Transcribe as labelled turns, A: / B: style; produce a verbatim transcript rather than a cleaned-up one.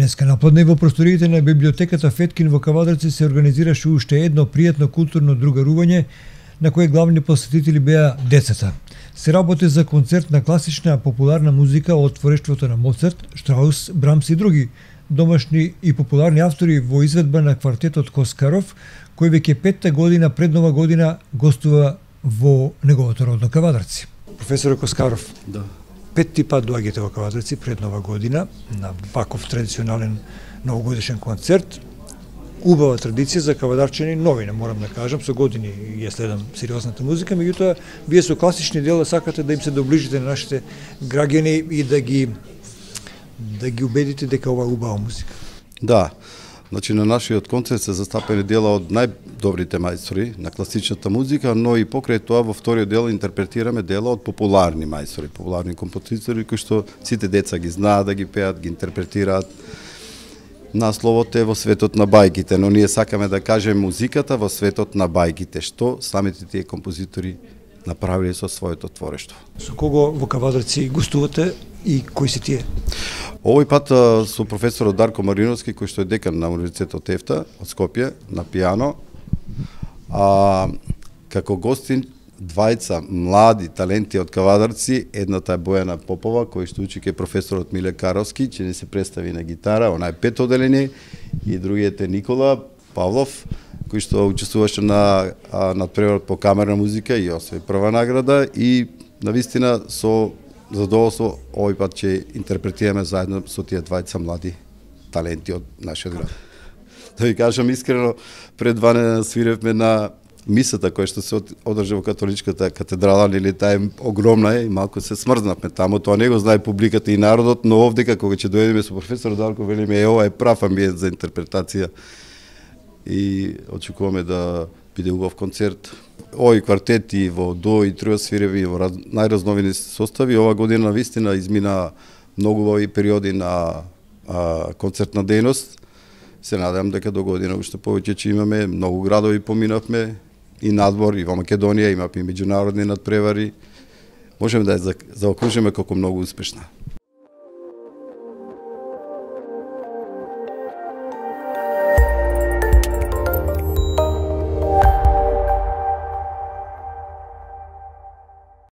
A: Денеска напладне во просториите на библиотеката Феткин во Кавадарци се организираше уште едно пријатно културно другарување на кое главни посетители беа децата. Се работи за концерт на класична популарна музика од творештвото на Моцарт, Штраус, Брамс и други домашни и популарни автори во изведба на квартетот Коскаров, кој веќе петта година пред Нова година гостува во неговото родно Кавадарци. Професор Коскаров,
B: да.
A: Петти пат доаѓате во Кавадарци пред Нова година на ваков традиционален новогодишен концерт. Убава традиција за кавадарчани, новина, морам да кажам, со години ја следам сериозната музика, меѓутоа вие со класични дела сакате да им се доближите на нашите граѓани и да ги да ги убедите дека ова е убава музика.
B: Да. Значи на нашиот концерт се застапени дела од најдобрите мајстори на класичната музика, но и покрај тоа во вториот дел интерпретираме дела од популарни мајстори, популарни композитори кои што сите деца ги знаат да ги пеат, ги интерпретираат. Насловот е во светот на бајките, но ние сакаме да кажеме музиката во светот на бајките, што самите тие композитори направиле со своето творештво.
A: Со кого во Кавадарци гостувате и кои се тие?
B: Овој пат со професорот Дарко Мариновски, кој што е декан на Универзитетот ЕФТА од Скопје на пијано, а како гостин двајца млади таленти од Кавадарци, едната е Бојана Попова, кој што учи ке професорот Миле Каровски, че не се представи на гитара, она е пет оделение, и другиот е Никола Павлов, кој што учествуваше на надпреварот по камерна музика и освои прва награда, и навистина со задоволство овој пат ќе интерпретираме заедно со тие двајца млади таленти од нашиот град. Да ви кажам искрено, пред два дена свиревме на мисата која што се одржа во католичката катедрала, нели таа е огромна е и малку се смрзнавме таму, тоа не го знае публиката и народот, но овдека кога ќе дојдеме со професор Дарко велиме е ова е прав амбиент за интерпретација и очекуваме да биде убав концерт. Овој квартет и во до и трио свиреви во раз, најразновини состави, ова година навистина измина многу убави периоди на а, концертна дејност. Се надевам дека до година уште повеќе ќе имаме, многу градови поминавме и надвор, и во Македонија, имаме и меѓународни надпревари. Можеме да ја заокружиме како многу успешна.